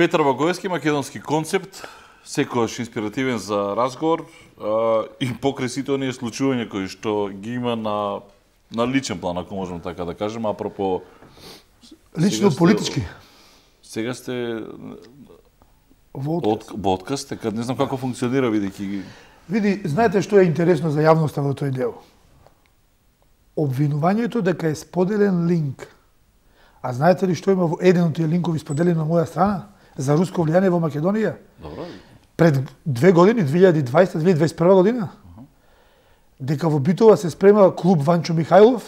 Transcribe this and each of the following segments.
Петар Багоевски, македонски концепт, секогаш инспиративен за разговор и покрај сите оние случувања кои што ги има на личен план, ако можам така да кажем, апропо лично политички. Сега сте во отказ, така не знам како функционира бидејќи Види, знаете што е интересно за јавноста во тој дел? Обвинувањето дека е споделен линк. А знаете ли што има во еден од тие линкови споделени на моја страна за руско влијание во Македонија? Добро. Пред 2 години, 2020-2021 година, дека во Битова се спрема клуб Ванчо Михајлов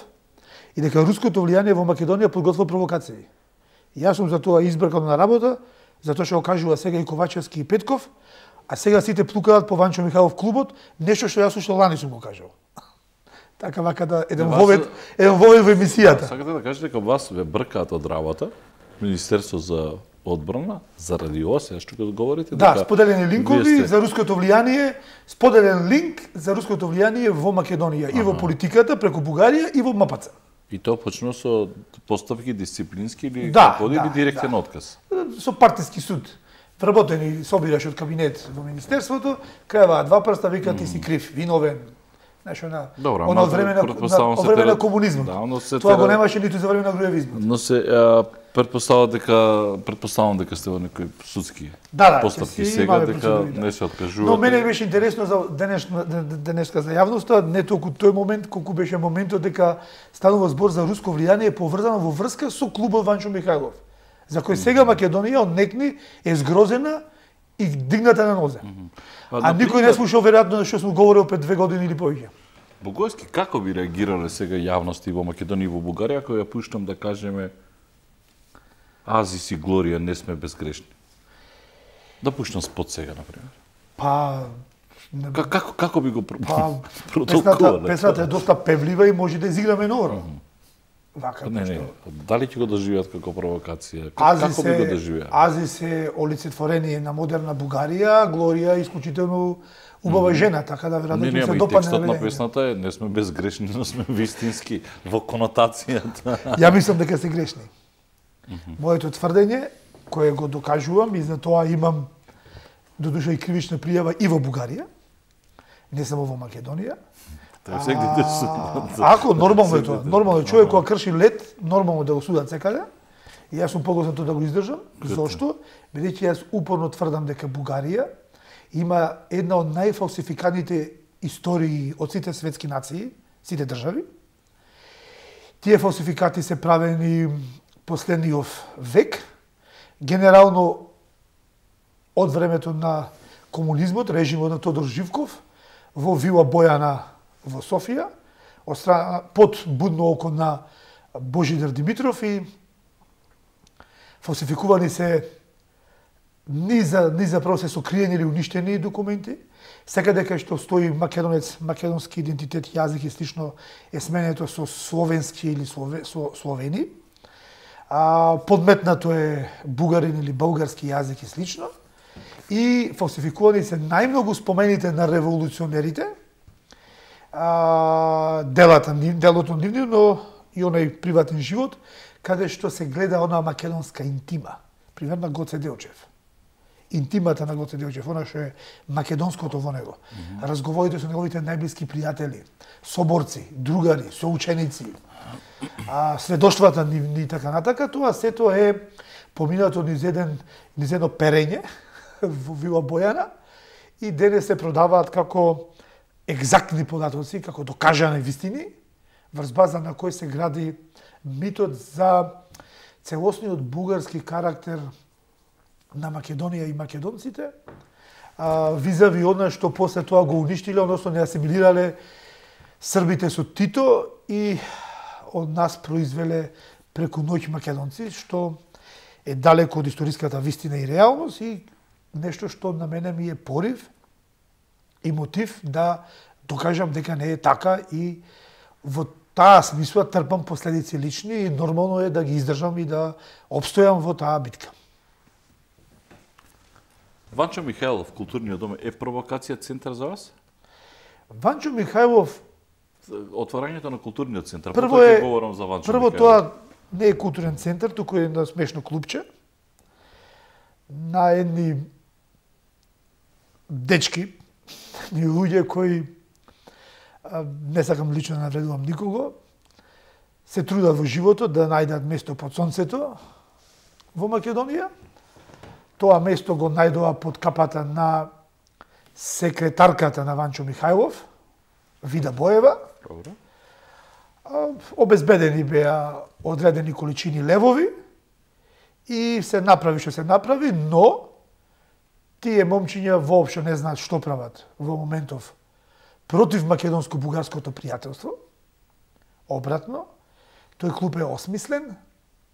и дека руското влијание во Македонија подготвува провокации. Јас сум за тоа избркан на работа, затоа што го кажува сега и Ковачевски и Петков, а сега сите плукаат по Ванчо Михајлов клубот, нешто што јас уште лани сум го кажал. Така вака да еден вовед во емисијата. Сакате да кажете дека вас ве бркаат од работа, Министерство за одбрана, заради ова сега што говорите? Да, споделени линкови за руското влијание, споделен линк за руското влијание во Македонија и во политиката преку Бугарија и во МПЦ. И тоа почнува со постапки дисциплински или или директен отказ? Со партиски суд. Вработени собираш од кабинет во Министерството, крајава два прста, вика ти си крив, виновен. Нешто на од време на комунизмот. Да, тоа го немаше ниту за време на груевизмот. Но се предпоставам дека сте во некои судски постапки сега, дека не се откажувате. Но мене беше интересно за денеска за јавноста, не толку тој момент, колку беше моментот дека станува збор за руско влијание поврзано во врска со клубот Ванчо Михајлов, за кој сега Македонија однекни е згрозена и дигната на нозе. А никој не слушал веројатно што сум говорил пред 2 години или повеќе. Багоевски, како би реагирале сега јавности во Македонија и во Бугарија, ако ја пуштам да кажеме Азис и Глорија не сме безгрешни? Да пуштам спот сега, например. Како би го протолкувале? Песната е доста певлива и може да изиграме нора. Вака не. Дали ќе го доживеат како провокација? Како би го доживеа? Азис е олицетворение на модерна Бугарија, Глорија е исклучително убава жена, така да веројатно ќе се допадне. Текстот на песната е не сме безгрешни, но сме вистински во конотацијата. Ја мислам дека се грешни. Моето тврдење, кое го докажувам и за тоа имам додуша и кривична пријава и во Бугарија, не само во Македонија. Ако нормално е тоа, нормално е човек кога крши лет, нормално да го судат секаде. И јас сум погоснат да го издржам. Зошто? Бидејќи јас упорно тврдам дека Бугарија има една од најфалсификаните истории од сите светски нации, сите држави. Тие фалсификати се правени последниот век, генерално од времето на комунизмот, режимот на Тодор Живков, во Вила Бојана во Софија, од страна под будно око на Божидар Димитров и фалсификувани се заправо се сокриени или уништени документи. Секаде кај што стои македонец, македонски идентитет, јазик и слично е сменето со словенски или словени. Подметнато е бугарин или български јазик и слично. И фалсификувани се најмногу спомените на револуционерите, делото нивно, но и онај приватен живот, каде што се гледа онаа македонска интима. Пример на Гоце Делчев. Интимата на Гоце Делчев, она што е македонското во него. Разговорите со неговите најблиски пријатели, соборци, другари, соученици, сведоштвата ни така натака, тоа сето е поминато низ едно перење во Вила Бојана и денес се продаваат како екзактни податоци, како докажани вистини, врз база на кој се гради митот за целосниот бугарски карактер на Македонија и македонците, визави она што после тоа го уништиле, односно не асимилирале србите со Тито и од нас произвеле преку ноќ македонци, што е далеко од историската вистина и реалност и нешто што на мене ми е порив и мотив да докажам дека не е така и во таа смисла трпам последици лични и нормално е да ги издржам и да обстојам во таа битка. Ванчо Михајлов, културниот дом, е провокација центар за вас? Ванчо Михајлов... Отварањето на културниот центар, прво тоа не е културен центар, туку е едно смешно клубче. на едни дечки, ни луѓе кои не сакам лично да навредувам никого, се трудат во животот да најдат место под сонцето во Македонија. Тоа место го најдоа под капата на секретарката на Ванчо Михајлов, Вида Боева. Добро. Обезбедени беа одредени количини левови и се направи што се направи, но тие момчиња воопшто не знаат што прават во моментов против македонско-бугарското пријателство. Обратно, тој клуб е осмислен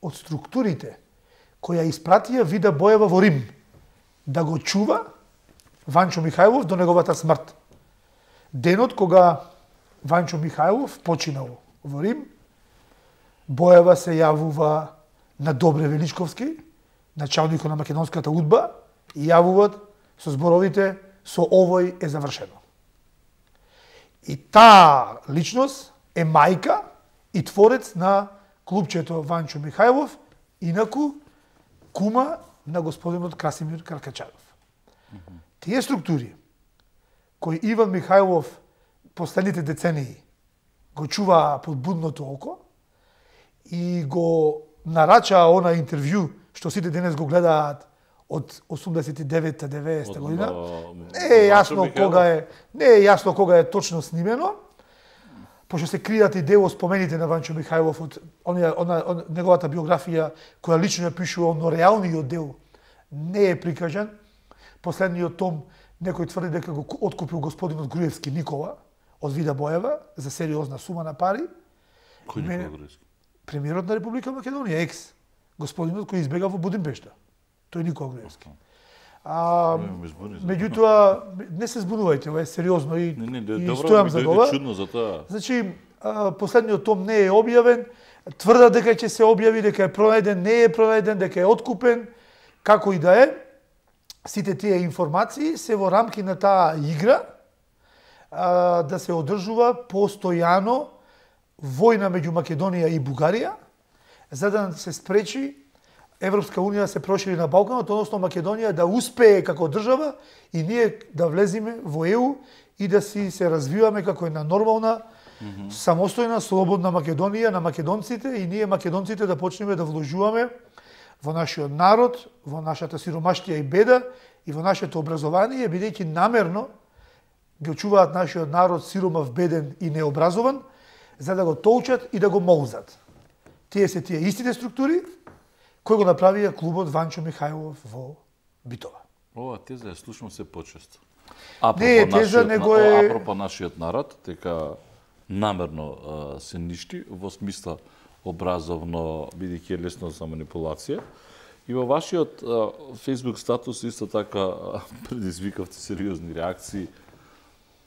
од структурите која испратија Вида Боева во Рим да го чува Ванчо Михајлов до неговата смрт. Денот кога Ванчо Михајлов починал во Рим, Боева се јавува на Добре Величковски, началникот на македонската удба, и јавуваат со зборовите "со овој е завршено". И таа личност е мајка и творец на клубчето Ванчо Михајлов, инаку кума на господинот Красимир Каркачанов. Тие структури кои Иван Михајлов последните децении го чуваа под будното око и го нарачаа она интервју што сите денес го гледаат од 89-90 година. Не е јасно кога е точно снимено, пошто се кријат и дел спомените на Ванчо Михајлов од неговата биографија, која лично ја пишува, но реалниот дел не е прикажан. Последниот том некој тврди дека го откупил господинот Груевски Никола од Вида Боева за сериозна сума на пари. Кој Никола Груевски? Премиерот на Република Македонија, екс. Господинот кој избега во Будимпешта. Тој Никола Груевски. Меѓутоа, не се збунувајте, ова е сериозно и стојам за тоа. Чудно за тоа. Значи, последниот том не е објавен, тврдат дека ќе се објави, дека е пронајден, не е пронајден, дека е откупен, како и да е. Сите тие информации се во рамки на таа игра да се одржува постојано војна меѓу Македонија и Бугарија, за да се спречи Европска унија да се прошири на Балканот, односно Македонија да успее како држава и ние да влеземе во ЕУ и да си се развиваме како една нормална, самостојна, слободна Македонија на македонците и ние македонците да почнеме да вложуваме во нашиот народ, во нашата сиромаштија и беда и во нашето образование, бидејќи намерно ги очуваат нашиот народ сиромав, беден и необразован, за да го толчат и да го молзат. Тие се тие истите структури кои го направија клубот Ванчо Михајлов во Битова. Ова теза ја слушам се почесто. Не е теза, него е... Апропо нашиот народ, дека намерно се ништи, во смисла образовно, бидејќи е лесно за манипулација. И во вашиот Facebook статус исто така предизвикавте сериозни реакции.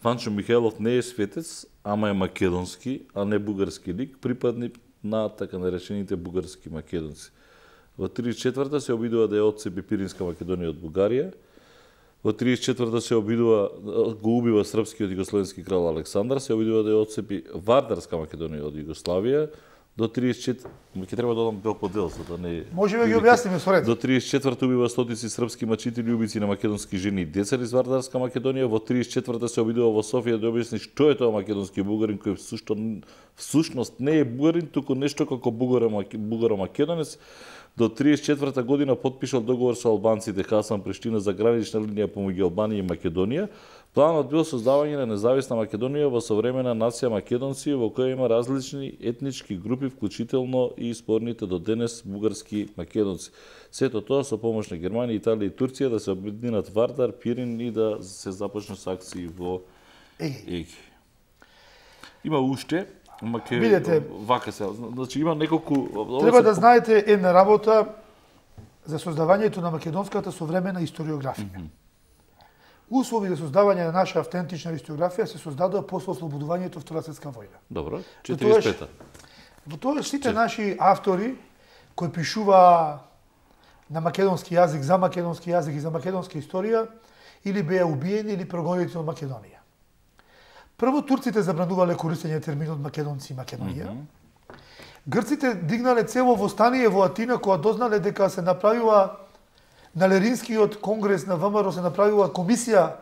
Ванчо Михајлов не е светец, ама е македонски, а не бугарски лик, припадник на така наречените бугарски македонци. Во 34-та се обидува да ја отцепи Пиринска Македонија од Бугарија. Во 34-та се обидува, го убива српскиот југословенски крал Александар, се обидува да ја отцепи Вардарска Македонија од Југославија. До 34, ќе треба да додам дел по дел, за да не... Можеме ги објасниме со ред. До 34-та убива стотици српски мачители, убици на македонски жени и деца из Вардарска Македонија. Во 34-та се обидува во Софија да објасни што е тоа македонски бугарин, кој всушност не е бугарин, туку нешто како бугаро-македонец. До 34-та година потпишал договор со албанците Хасан Приштина за гранична линија помеѓу Албанија и Македонија. Планот бил создавање на независна Македонија во современа нација македонци, во која има различни етнички групи, вклучително и спорните до денес бугарски македонци. Сето тоа со помош на Германија, Италија и Турција да се обединат Вардар, Пирин и да се започне со акции во Еги. Има уште, видете, вака се, значи има неколку... Треба да знаете една работа за создавањето на македонската современа историографија. Услови за создавање на наша автентична историографија се создадоа после ослободувањето Втора светска војна. Добро, 45-та. Во тоа сите наши автори кои пишуваа на македонски јазик, за македонски јазик и за македонска историја, или беа убиени или прогонети од Македонија. Прво турците забранувале користење терминот македонци и Македонија. Грците дигнале цело восстание во Атина кога дознале дека се направила на Леринскиот конгрес на ВМРО се направила комисија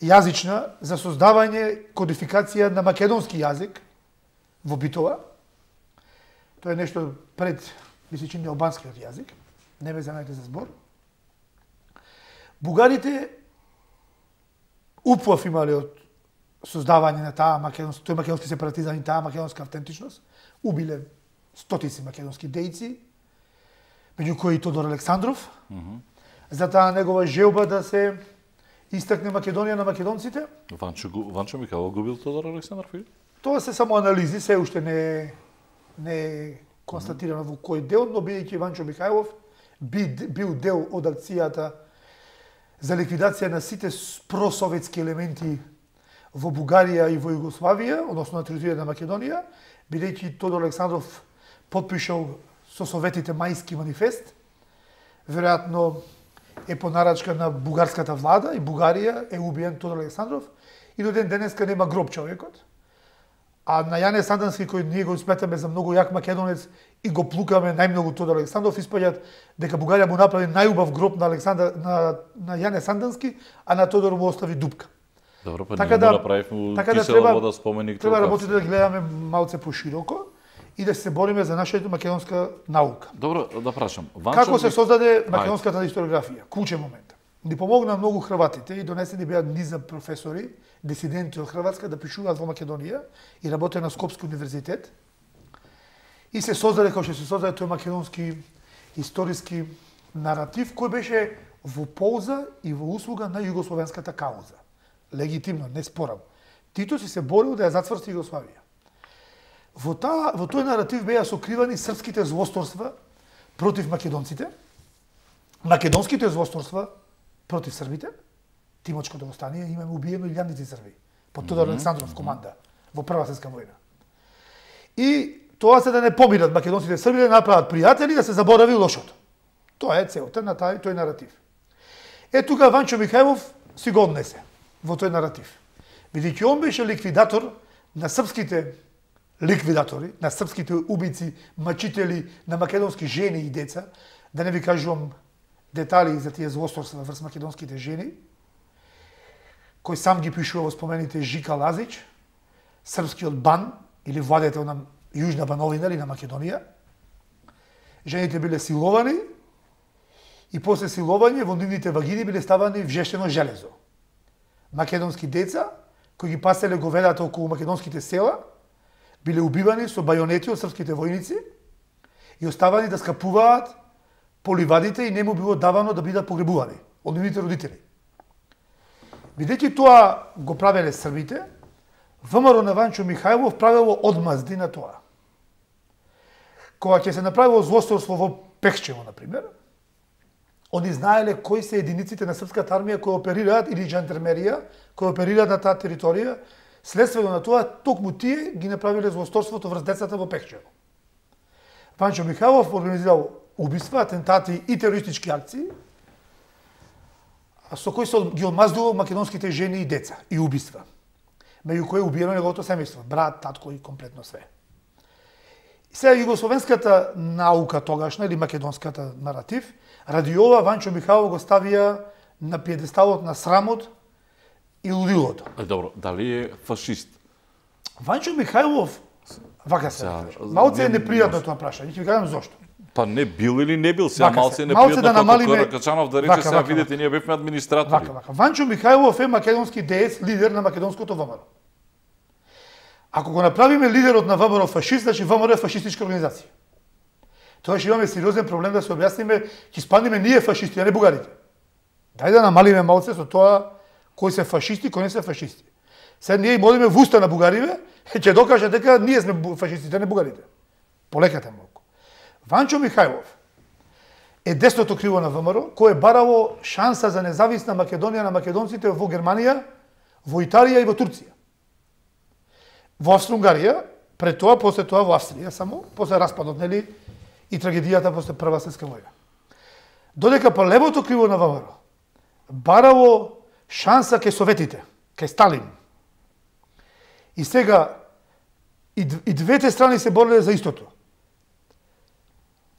јазична за создавање кодификација на македонски јазик во Битола. Тоа е нешто пред, ми се чини, албанскиот јазик. Не ме земајте за збор. Бугарите упов имале од создавање на таа тој македонски сепаратизам и таа македонска автентичност. Убиле стотици македонски дејци, меѓу кои Тодор Александров, за таа негова желба да се истакне Македонија на македонците. Ванчо Михайлов губил Тодор Александров или? Тоа се само анализи, се уште не е констатирано во кој дел, но бидејќи Ванчо Михайлов бил дел од акцијата за ликвидација на сите просоветски елементи во Бугарија и во Југославија, односно на територија на Македонија, бидејќи Тодор Александров потпишал со Советите Мајски манифест, веројатно е по нарачка на бугарската влада и Бугарија е убиен Тодор Александров и до ден денеска нема гроб човекот. А на Јане Сандански, кој ние го сметаме за многу јак македонец и го плукаме најмногу Тодор Александров, испаѓаат дека Бугарија му направи најубав гроб на Јане Сандански, а на Тодор му остави дупка. Добро, па ние му направивме кисела вода споменик. Треба работите да гледаме малце пошироко и да се бориме за нашата македонска наука. Добро, да прашам. Како се создаде македонската историографија? Клучен момент. Ни помогна многу хрватите и донесени беа низа професори, дисиденти од Хрватска да пишуваат во Македонија и работеа на Скопски универзитет. И се создаде, како што се создаде тој македонски историски наратив, кој беше во полза и во услуга на југословенската кауза. Легитимно, не спорам. Тито си се борил да ја зацврсти Југославија. Во тој наратив беа сокривани српските злосторства против македонците, македонските злосторства против србите, Тимочкото востание, имаме убиено илјадници срби под Тодор Александров команда во Прва светска војна. И тоа се да не помират македонците срби, да направат пријатели, да се заборави лошото. Тоа е целта на тој наратив. Е тука Ванчо Михајлов си го однесе во тој наратив. Бидејќи он беше ликвидатор на српските ликвидатори, на српските убици, мачители на македонски жени и деца, да не ви кажувам детали за тие злосторства врз македонските жени, кој сам ги пишува во спомените Жика Лазич, српскиот бан или владетел на Јужна Бановина или на Македонија. Жените биле силовани и после силовање во нивните вагини биле ставани вжештено железо. Македонски деца, кои ги паселе говедата околу македонските села, биле убивани со бајонети од српските војници и оставани да скапуваат по ливадите и не му било давано да бидат погребувани од нивните родители. Бидејќи тоа го правеле србите, ВМРО на Ванчо Михајлов правело одмазди на тоа. Кога ќе се направило злосторство во Пехчево, например, они знаеле кои се единиците на српската армија кои оперираат или жандармерија, кои оперираат на таа територија, следствено на тоа токму тие ги направиле злосторството врз децата во Пехчево. Ванчо Михајлов организирал убиства, атентати и терористички акции, со кои се ги одмаздувал македонските жени и деца и убиства. Меѓу кои убиено неговото семејство, брат, татко и комплетно све. Сега југословенската наука тогашна или македонската наратив, ради ова Ванчо Михајлов го ставија на пиедесталот на срамот и лудилото. Добро, дали е фашист? Ванчо Михајлов, вака се, малце е непријатно тоа прашање, ќе ви кажам зошто. Па не бил или не бил, сега малце е непријатно да како Каракачанов да рече, сега видите, ние бевме администратори. Вака. Ванчо Михајлов е македонски деец, лидер на македонското ВМРО. Ако го направиме лидерот на ВМРО фашист, значи ВМРО е фашистичка организација. Тоа ќе имаме сериозен проблем да се објасниме, ќе спадниме ние фашисти, а не бугарите. Дај да намалиме малце со тоа кои се фашисти, кои не се фашисти. Сега ние им одиме в уста на бугариве, ќе докажат дека ние сме фашистите, а не бугарите. Полекате малку. Ванчо Михајлов е десното криво на ВМРО, кој е барало шанса за независна Македонија на македонците во Германија, во Италија и во Турција. Во Австро-Унгарија, пред тоа, после тоа во Австрија само, после распадот, нели, и трагедијата после Прва светска војна. Додека па левото криво на ВМРО барало шанса кај Советите, кај Сталин. И сега и двете страни се бореле за истото.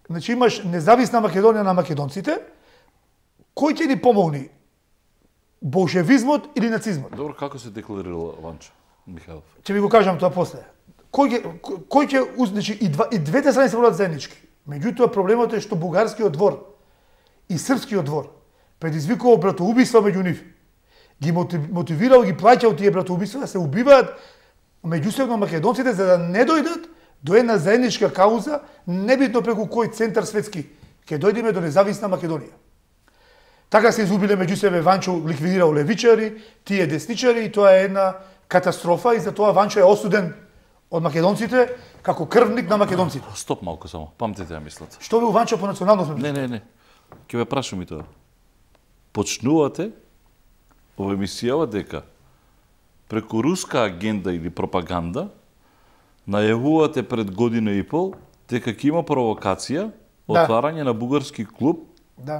Значи имаш независна Македонија на македонците, Кој ќе ни помогне? Болшевизмот или нацизмот? Добро, како се декларирал Ванчо Михајлов? Ќе ви го кажам тоа после. Кој ќе значи и двете страни се борат заеднички. Меѓутоа проблемот е што бугарскиот двор и српскиот двор предизвикува братоубиства меѓу нив. Ги мотивирал, ги плаќал тие братоубиства да се убиваат меѓусебно македонците за да не дојдат до една заедничка кауза, небитно преку кој центар светски ќе дојдеме до независна Македонија. Така се изгубиле меѓу себе, Ванчо ликвидирал левичари, тие десничари и тоа е една катастрофа и затоа Ванчо е осуден од македонците како крвник на македонците. Стоп малку само, памтете ја мислата. Што бил Ванчо по национално сме? Не. Ќе ве прашам и тоа. Почнувате во емисијава дека преку руска агенда или пропаганда најавувате пред година и пол дека ќе има провокација, отварање на бугарски клуб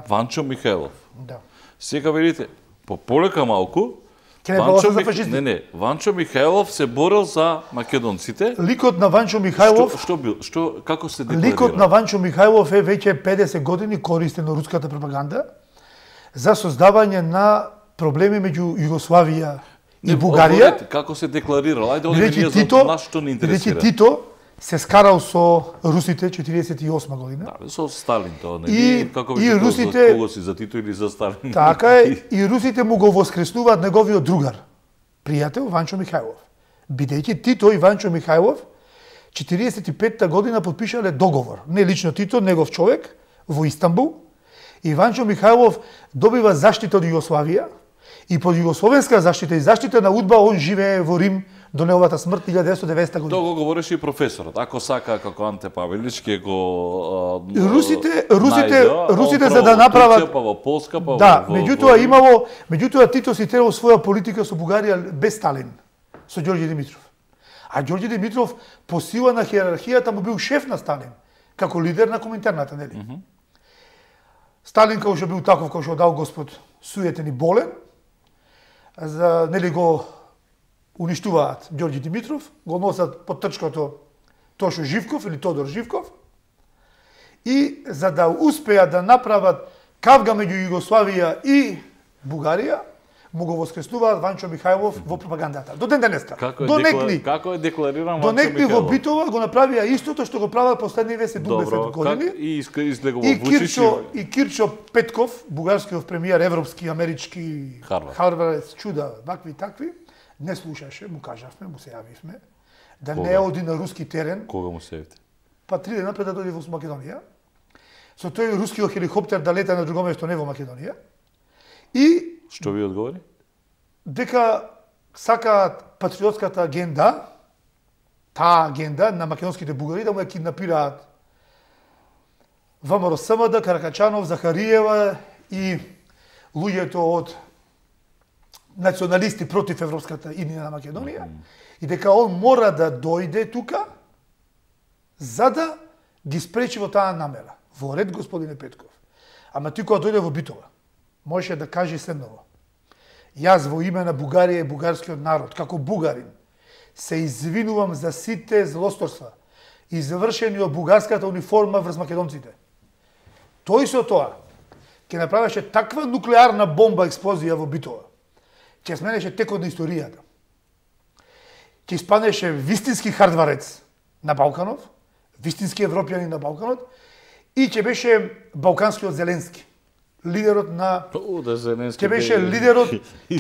Ванчо Михајлов. Да. Сега велите, полека малку, Ванчо Михајлов се борел за македонците. Ликот на Ванчо Михајлов како се декларира? Ликот на Ванчо Михајлов е веќе 50 години користен од руската пропаганда за создавање на проблеми меѓу Југославија и Бугарија. Како се декларирал? Ајде одиме за нашто не интересира. Тито се скарал со русите 48 година. Да, со Сталин тоа не. Како и русите кого си, за Тито или за Сталин? Така е, и русите му го воскреснуваат неговиот другар, пријател Ванчо Михајлов. Бидејќи Тито и Ванчо Михајлов 45-та година подпишале договор, не лично Тито, негов човек во Истанбул, и Ванчо Михајлов добива заштита од Југославија и под југословенска заштита и заштита на УДБА он живее во Рим до неговата смрт 1990 година. Тоа го говореше и професорот. Ако сака како Анте Павелич ќе го русите за да направат па во Полска па да, меѓутоа Тито си терал своја политика со Бугарија без Сталин, со Ѓорѓе Димитров. А Ѓорѓе Димитров по сила на хиерархијата му бил шеф на Сталин, како лидер на Коминтерната, нели? Сталин како што бил таков, како што дал Господ, суетен и болен, за нели го уништуваат Ѓорѓе Димитров, го носат под трчкото Тошо Живков или Тодор Живков и за да успеат да направат кавга меѓу Југославија и Бугарија, му го воскреснуваат Ванчо Михајлов во пропагандата. До ден денеска. Како е деклариран Ванчо Михајлов? Донекни во битова го направија истото што го прават последниве 70 години. И излегува Вучич и Кирчо Петков, бугарскиот премиер, европски, амерички, Харвард, чуда, вакви такви, не слушаше, му кажавме, му се јавивме, да не оди на руски терен. Кога му се јавите? Па 3 дена пред да дојде во Македонија. Со тој рускиот хеликоптер да лета на друго место, не во Македонија. И што ви одговори? Дека сакаат патриотската агенда, таа агенда на македонските бугари да му ја киднапираат ВМРО СМД, Каракачанов, Захариева и луѓето од националисти против европската иднина на Македонија и дека он мора да дојде тука за да ги спречи во таа намера. Во ред, господине Петков. Ама ти кога дојде во битова, можеше да каже следново. Јас во име на Бугарија и бугарскиот народ, како бугарин, се извинувам за сите злосторства извршени од бугарската униформа врз македонците. Тој со тоа ќе направеше таква нуклеарна бомба експлозија во битова, ќе сменеше текот на историјата. Ќе испаднеше вистински хардварец на Балканов, вистински европјани на Балканот и ќе беше балканскиот Зеленски. Лидерот на ќе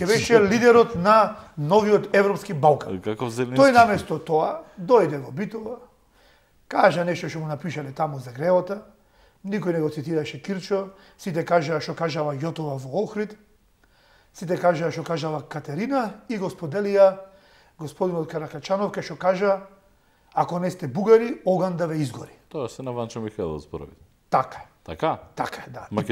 беше лидерот на новиот европски Балкан. Тој наместо тоа дојде во битова, кажа нешто што му напишале таму за греота, никој не го цитираше Кирчо, сите кажаа што кажала Јотова во Охрид, сите кажаа што кажала Катерина и го споделија господинот Каракачанов кај што кажа ако не сте бугари, оган да ве изгори. Тоа се на Ванчо Михајлов зборови. Така. Така? Така е, да. Не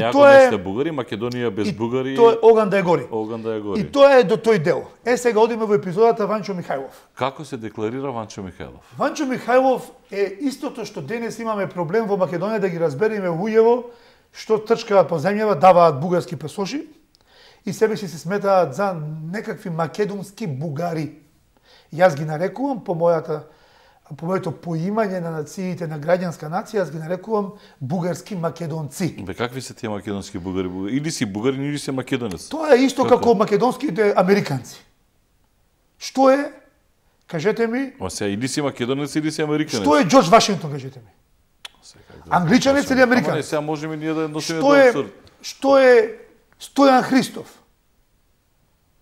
ако не сте бугари, Македонија без бугари... Тоа е оган да ја гори. Оган да ја гори. И тоа е до тој дел. Сега одиме во епизодата Ванчо Михајлов. Како се декларира Ванчо Михајлов? Ванчо Михајлов е истото што денес имаме проблем во Македонија да ги разбереме луѓево што трчкаат по земјава, даваат бугарски пасоши и себе си се сметаат за некакви македонски бугари. Јас ги нарекувам по мојата по моето поимање на нациите на граѓанска нација, аз ги нарекувам бугарски македонци. Бе, какви се тие македонски бугари? Или си бугарин, или си македонец? Тоа е исто како македонските американци. Што е? Кажете ми. Ма сега, или си македонец, или си американец. Што е Џорџ Вашингтон, кажете ми? Англичанец или американец? Не, сега можеме ние да носиме Што е Стојан Христов?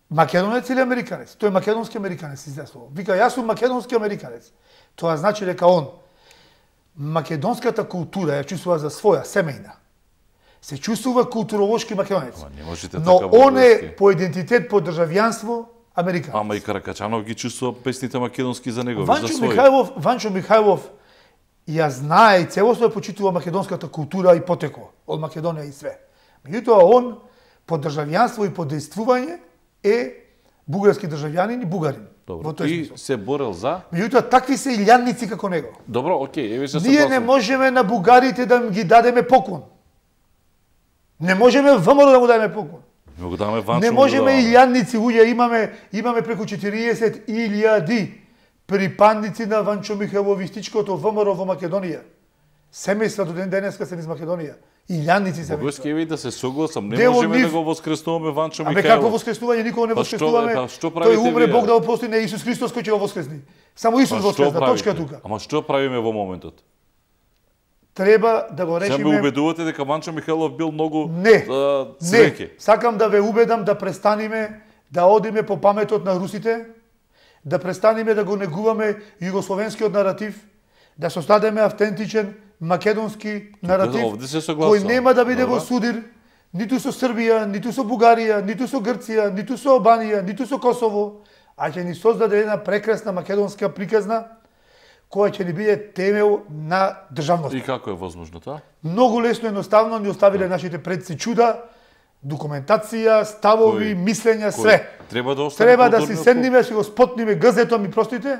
Македонец или американец? Тој е македонски американец, излесло. Вика, јас сум македонски американец. Тоа значи дека он македонската култура ја чувствува за своја, семејна. Се чувствува културолошки македонец. Но он е по идентитет, по државјанство американец. Ама и Каракачанов ги чувствува песните македонски за него, Ванчо за свој. Ванчо Михајлов ја знае и целосно ја почитува македонската култура и потекло од Македонија и све. Меѓутоа он по државјанство и по дејствување е бугарски државјанин и бугарин. Добро. И се борел за? Меѓутоа такви се илјадници како него. Добро, окей, еве се Ние не можеме на бугарите да ги дадеме поклон. Не можеме ВМРО да му дадеме поклон. Не можеме илјадници луѓе, имаме преку 40.000 припадници на Ванчо Михайловистичкото ВМРО во Македонија. Семејства до ден денеска се низ Македонија. Илјадници се. Бојски еве да се согласам, не можеме да го воскреснуваме Ванчо Михайлов. Абе како воскреснување, никого не воскреснуваме. Тој умре, Бог да го прости, не Исус Христос кој ќе го воскресни. Само Исус воскресна, точка тука. Ама што правиме во моментот? Треба да го решиме. Сега ме убедувате дека Ванчо Михайлов бил многу цвеќе. Не, сакам да ве убедам да престаниме да одиме по паметот на русите, да престаниме да го негуваме југословенскиот наратив, да создадеме автентичен македонски наратив кој нема да биде во судир ниту со Србија, ниту со Бугарија, ниту со Грција, ниту со Албанија, ниту со Косово, а ќе ни создаде една прекрасна македонска приказна која ќе ни биде темел на државноста. И како е возможно тоа? Многу лесно, едноставно ни оставиле нашите предци чуда, документација, ставови, мислења, све. Треба да си седниме, да си го спотниме гзето, ми простите,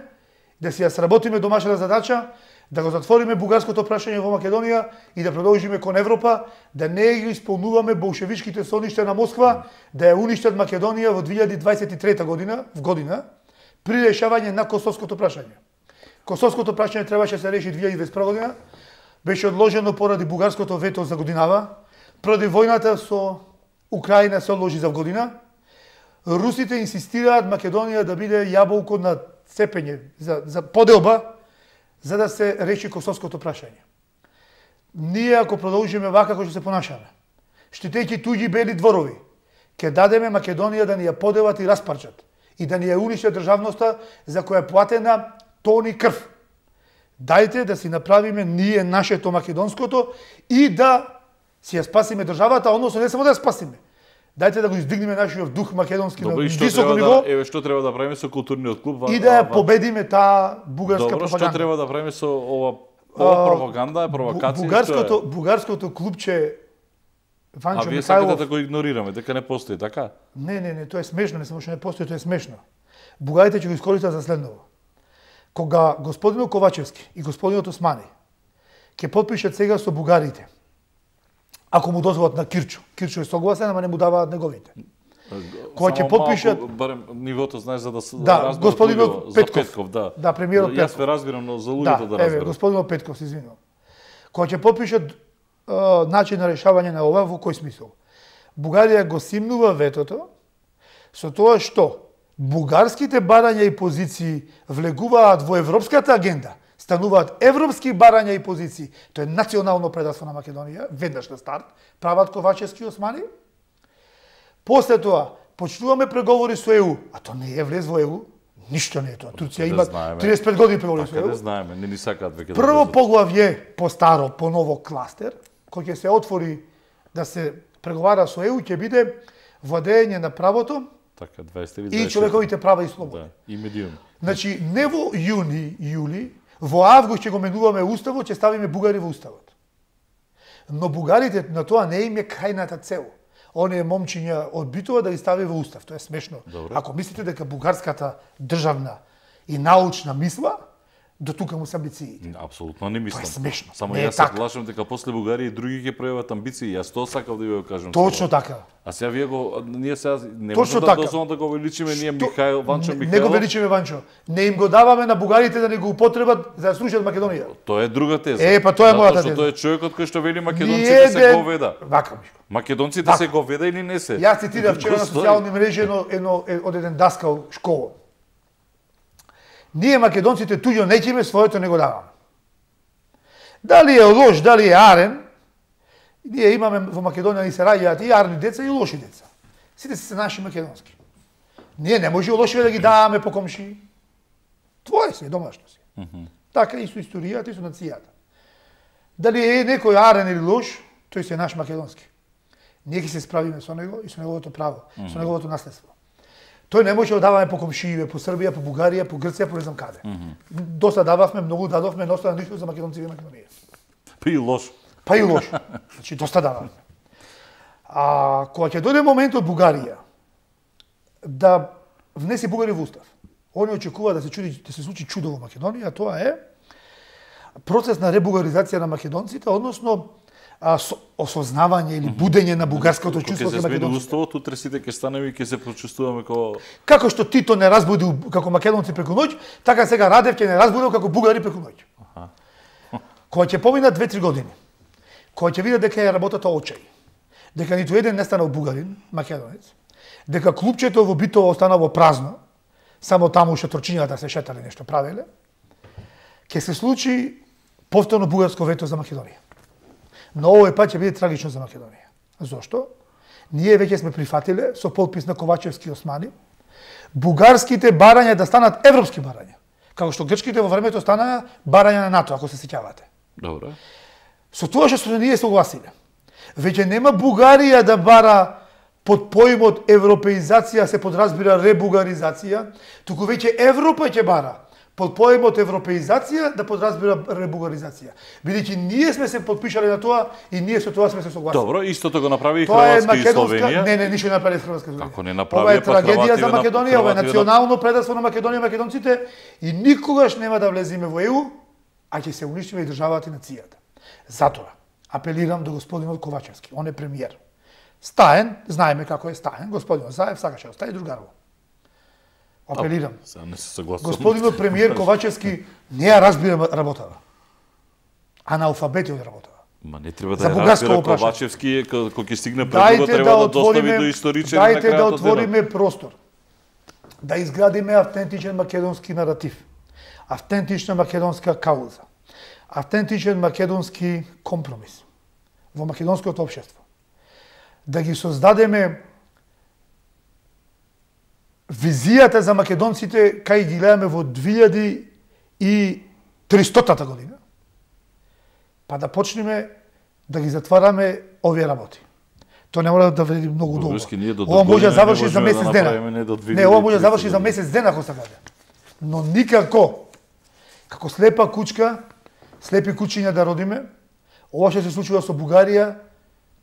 да си ја сработиме домашната задача, да го затвориме бугарското прашање во Македонија и да продолжиме кон Европа, да не ги исполнуваме болшевичките соништа на Москва, да ја уништат Македонија во 2023 година, при решавање на косовското прашање. Косовското прашање требаше да се реши 2021 година, беше одложено поради бугарското вето за годинава, поради војната со Украина се одложи за година. Русите инсистираат Македонија да биде јаболко на цепење за поделба, за да се реши косовското прашање. Ние ако продолжиме вака како што се понашаме, штитејќи туѓи бели дворови, ќе дадеме Македонија да ни ја поделат и распарчат и да ни ја уништат државноста за која е платена тони крв. Дајте да си направиме ние нашето македонското и да си ја спасиме државата, односно не само да ја спасиме. Дајте да го издигнеме нашиот дух македонски на високо ниво. Еве што треба да правиме со културниот клуб и да ја победиме таа бугарска пропаганда. Што треба да правиме со ова пропаганда, провокација? Бугарското клубче Ванчо Михайлов. А вие сакате да го игнорираме, дека не постои, така? Не, тоа е смешно, не само што не постои, тоа е смешно. Бугарите ќе го искористат за следново. Кога господинот Ковачевски и господинот Османи ќе подпишат сега со бугарите, ако му дозволат на Кирчо. Кирчо е согласен, ама не му даваат неговите. Кога ќе подпишат барем нивото знаеш за да разберат господинот Петков, да. Да, премиерот Петков. Јас ве разбирам, но за луѓето да разберат. Еве, господинот Петков, се извинувам. Кога ќе подпишат начин на решавање на ова, во кој смисол? Бугарија го симнува ветото со тоа што бугарските барања и позиции влегуваат во европската агенда, стануваат европски барања и позиции, тоа е национално предавство на Македонија, веднаш на старт, прават Ковачевски и Османи. После тоа, почнуваме преговори со ЕУ, а тоа не е влез во ЕУ, ништо не е тоа. Турција има 35 години преговори со ЕУ. Не знаеме, не ни сакаат веќе. Прво поглавје по старо, по ново кластер, кој ќе се отвори да се преговара со ЕУ, ќе биде владење на правото, така 23 и човековите права и слободи. Да, и медиум. Значи, не во јули, во август ќе го менуваме уставот, ќе ставиме бугари во уставот. Но бугарите на тоа не им е крајната цел. Оние момчиња од Битова да ги стави во устав. Тоа е смешно. Добре. Ако мислите дека бугарската државна и научна мисла До тука му се амбициите. Апсолутно не мислам. Тоа е смешно. Само Не е јас се така. плашам дека после Бугарија и други ќе пројават амбиции. Јас тоа сакав да ви го кажам. Точно сега. така. А сега вие ние сега не Точно можеме да така. дозволам да го увеличиме ние Што- Ванчо Не го Михајлов. величиме Ванчо. Не им го даваме на бугарите да не го употребат за да срушат Македонија. Тоа е друга теза. Па тоа е мојата Затоа што теза. тој е човекот кој што вели македонците се говеда. Вака, Мишко. Македонците се говеда или не се? Јас цитирав вчера на Го стои. социјални мрежи од еден даскал школа. Ние македонците туѓо неќеме, своето не го даваме. Дали е лош, дали е арен, ние имаме во Македонија ни се раѓаат и арни деца и лоши деца. Сите се наши македонски. Ние не може лошиве да ги даваме по комшии. Твое си, домашно си. Така и со историјата и со нацијата. Дали е некој арен или лош, тој се наш македонски. Ние ќе се справиме со него и со неговото право, со неговото наследство. Тој не може да даваме по комшииве, по Србија, по Бугарија, по Грција, по не знам каде. Доста дававме, многу дадовме, но остана ништо за македонците и Македонија. Па и лош. Па и лошо. Значи, доста дававме. А кога ќе дојде моментот Бугарија да внесе Бугарија во устав, они очекува да се случи чудо во Македонија, а тоа е процес на ребугаризација на македонците, односно осознавање или будење на бугарското чувство Кога кон се смени македонците. уставот, утре сите ќе станеме и ќе се почувствуваме како Како што Тито не разбуди како македонци преку ноќ, така сега Радев ќе не разбуди како бугари преку ноќ. Кога ќе поминат 2-3 години, кога ќе видат дека е работата очај, дека ниту еден не станал бугарин, македонец, дека клупчето во Битово останало празно, само таму шаторчињата се шетале нешто правеле, ќе се случи повторно бугарско вето за Македонија. Но овој пат ќе биде трагично за Македонија. Зошто? Ние веќе сме прифатиле со подпис на Ковачевски и Османи бугарските барања да станат европски барања, како што грчките во времето станаа барања на НАТО, ако се сеќавате. Добро. Со тоа што се ние согласиле. Веќе нема Бугарија да бара под поимот европеизација се подразбира ребугаризација, туку веќе Европа ќе бара под поимот европеизација да подразбира ребугаризација. Бидејќи ние сме се подпишале на тоа и ние со тоа сме се согласили. Добро, истото го направи и Тоа е Хрватска и македонска, Словенија. не, ништо не направи Хрватска и Словенија. Како не направи, Ова е па трагедија Хрвативе за на- Македонија, ова е Хрвативе на- национално предавство на Македонија и македонците и никогаш нема да влеземе во ЕУ, а ќе се уништиме и државата и нацијата. Затоа апелирам до господинот Ковачевски, он е премиер. Стаен, знаеме како е Стаен, господинот Заев сакаше да остави другарово. Апелирам. Сега не се согласувам. Господинот премиер Ковачевски не ја разбира работава. Аналфабет е од работава. Ма не треба За да ја бугарско разбира опрашање. Ковачевски, кога ќе стигне пред него, треба да достави до историчари на Дајте да крајот од денот. отвориме простор. Да изградиме автентичен македонски наратив. Автентична македонска кауза. Автентичен македонски компромис во македонското општество. Да ги создадеме визијата за македонците кај ги гледаме во 2300-та година, па да почнеме да ги затвараме овие работи. Тоа не мора да вреди многу долго. Врски, ние до Ова може да година заврши не за можеме месец да дена. направиме, не до Не, ова може да 2300 заврши за година. месец дена ако сакате. Но никако, како слепа кучка, слепи кучиња да родиме, ова што се случува со Бугарија,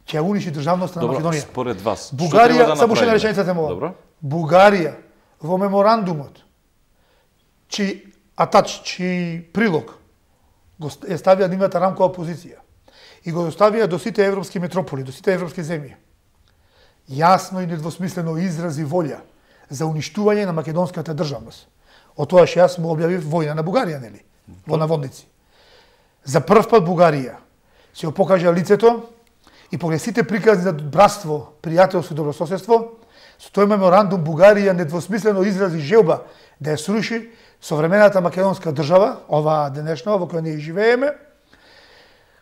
ќе ја униши државноста на Добро, Македонија. според вас, што Бугарија, треба да само уште една направиме? реченица тема. Добро. Бугарија во меморандумот чиј прилог го ја ставија нивната рамкова позиција и го доставија до сите европски метрополи, до сите европски земји. Јасно и недвосмислено изрази волја за уништување на македонската државност. Од тоа што јас му објавив војна на Бугарија, нели? Во наводници. За прв пат Бугарија се покажа лицето и покрај сите приказни за братство, пријателство и добрососедство, со тој меморандум Бугарија недвосмислено изрази желба да ја сруши современата македонска држава, оваа денешна во која ние живееме,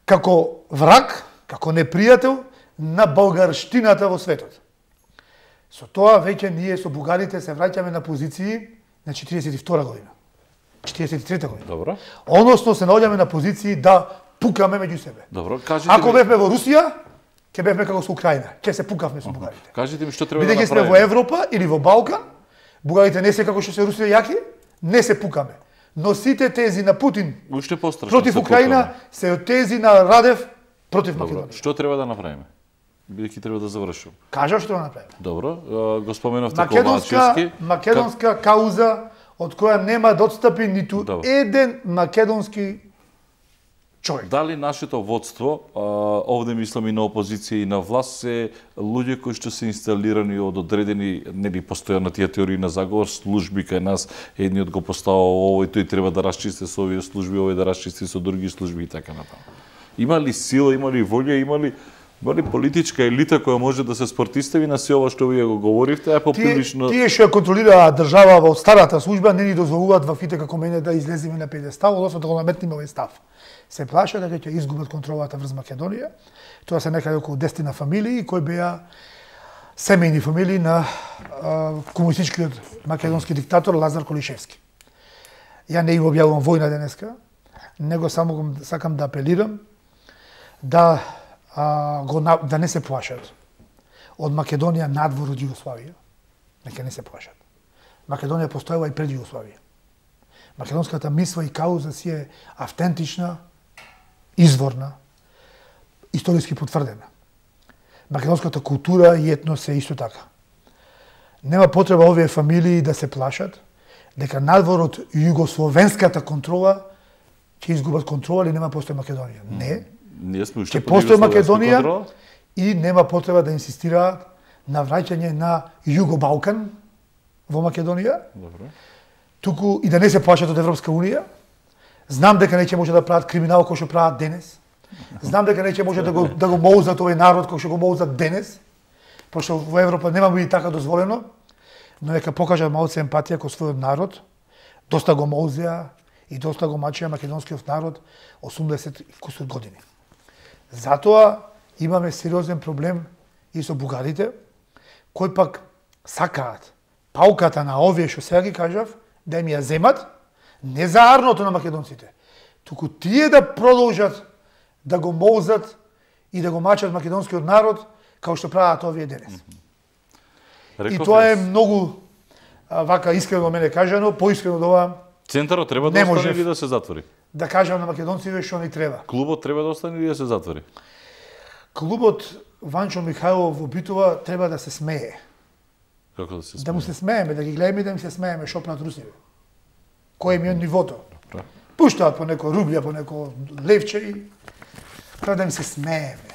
како враг, како непријател на българштината во светот. Со тоа веќе ние со бугарите се враќаме на позиции на 42 година. 43 година. Добро. Односно се наоѓаме на позиции да пукаме меѓу себе. Добро, кажете Ако ми, бевме во Русија, ќе бевме како со Украина. Ќе се пукавме со бугарите. кажете ми што треба да Бидејќи сме во направиме. Европа или во Балкан, бугарите не се како што се русите јаки, не се пукаме. Но сите тези на Путин Уште пострашно. против се Украина пукаме. се од тези на Радев против Добро, Македонија. што треба да направиме? Бидејќи треба да завршим. Кажа што да направиме. Добро, го споменавте Македонска Ковачевски. македонска кауза од која нема да отстапи ниту еден македонски човек. Дали нашето водство, овде мислам и на опозиција и на власт, се луѓе кои што се инсталирани од одредени, нели постојано тие теории на заговор, служби кај нас, едниот го постава овој, тој треба да расчисти со овие служби, овој да расчисти со други служби и така натаму. Има ли сила, има ли волја, има ли политичка елита која може да се спортистави на се ова што вие го говоривте, а поприлично... Тие што контролираат држава во старата служба не ни дозволуваат ваквите како мене да излеземе на педестал, односно да го наметнеме овој став. Се плаша дека ќе изгубат контролата врз Македонија. Тоа се некаде околу 10 фамилии кои беа семејни фамилии на комунистичкиот македонски диктатор Лазар Колишевски. Ја не им објавувам војна денеска, него само сакам да апелирам да не се плашат од Македонија надвор од Југославија. Нека не се плашат. Македонија постоела и пред Југославија. Македонската мисла и кауза си е автентична, изворна, историски потврдена. Македонската култура и етнос е исто така. Нема потреба овие фамилии да се плашат дека надвор од југословенската контрола ќе изгубат контрола или нема постои Македонија. Не. Ќе постои Македонија и нема потреба да инсистираат на враќање на Југо-Балкан во Македонија. Добро. Туку и да не се плашат од Европска Унија. Знам дека не ќе може да прават криминал кој што прават денес. Знам дека не ќе може да го моузат овој народ кој што го моузат денес. Пошто во Европа нема биде така дозволено, но нека покажат малце емпатија кон својот народ. Доста го моузеа и доста го мачеа македонскиот народ 80 кусур години. Затоа имаме сериозен проблем и со бугарите, кои пак сакаат пауката на овие што сега ги кажав, да им ја земат, не за арното на македонците, туку тие да продолжат да го моузат и да го мачат македонскиот народ, како што прават овие денес. И тоа е многу вака искрено мене кажано, поискрено од ова. Центарот треба да остане или да се затвори? Да кажам на македонците што ни треба. Клубот треба да остане или да се затвори? Клубот Ванчо Михајлов во Битова треба да се смее. Како да се смее? Да му се смееме, да ги гледаме и да им се смееме што прават русиве. Кој им е нивото? Пуштаат по неко рублја, по неко левче и треба да им се смееме.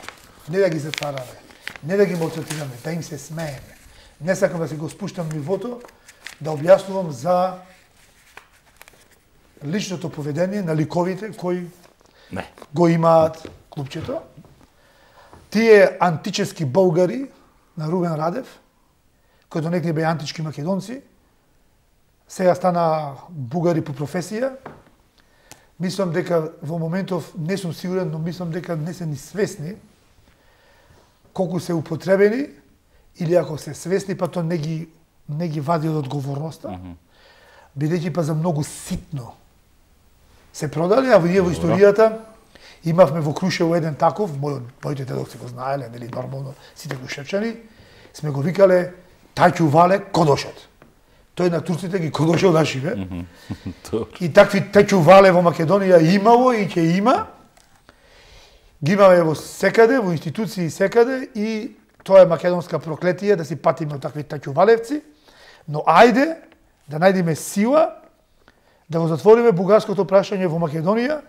Не да ги затвараме, не да ги малтретираме, да им се смееме. Не сакам да си го спуштам нивото, да објаснувам за личното поведение на ликовите кои го имаат клубчето. Тие антически българи на Рубен Радев, кои донекне беа антички македонци, сега стана бугари по професија. Мислам дека во моментов не сум сигурен, но мислам дека не се ни свесни колку се употребени или ако се свесни, па то не ги вади од одговорноста, бидејќи па за многу ситно се продали, а ние во историјата имавме во Крушево еден таков, моите дедовци го знаеле, нели нормално сите крушевчани, сме го викале Таќу Вале Кодошот. Тој на турците ги кодошел нашиве. И такви Таќу Вале во Македонија имало и ќе има. Ги имаме во секаде, во институции секаде и тоа е македонска проклетија да си патиме од такви Таќу Валевци. Но ајде да најдеме сила да го затвориме бугарското прашање во Македонија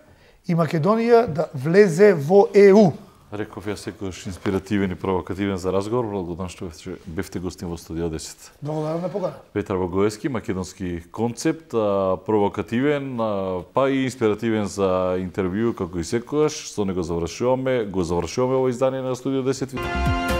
и Македонија да влезе во ЕУ. Реков ја секојаш инспиративен и провокативен за разговор, благодарам што бевте гостин во студио 10. Благодарам на покана. Петар Богоевски, македонски концепт, провокативен, па и инспиративен за интервју како и секојаш. Со него го завршуваме ово издание на студио 10.